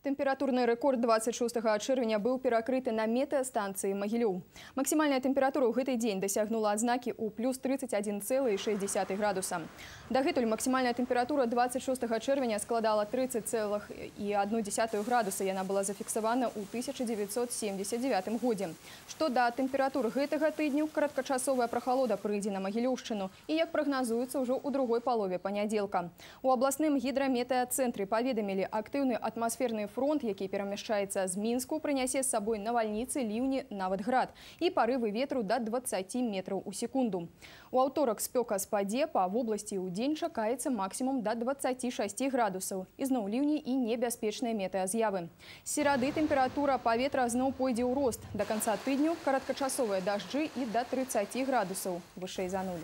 Тэмпературны рэкорд 26 чэрвеня быў перакрыты на метэастанцыі Магілёў. Максімальная тэмпература ў гэты дзень дасягнула адзнакі ў плюс 31,6 градуса. Дагэтуль максімальная тэмпература 26 чэрвеня складала 30,1 градуса. Яна была зафіксавана ў 1979 годзе. Што да тэмператур гэтага тыдню, кароткачасовая прахалода прыйдзе на Магілёўшчыну і, як прагназуецца, ўжо ў другой палове панядзелка. У абласным гідраметэацэнтры паведамілі, актыўны атмасферны фронт, які перамяшчаецца з Мінску, прынясе з сабой навальніцы, ліўні, нават град і парывы ветру да 20 метраў у секунду. У аўторак спёка спадзе, па вобласці ў дзень чакаецца максімум да 26 градусаў. Ізноў ліўні і небяспечныя метэаз'явы. З серады тэмпература паветра зноў пойдзе ў рост. Да канца тыдню кароткачасовыя дажджы і да 30 градусаў вышэй за нуль.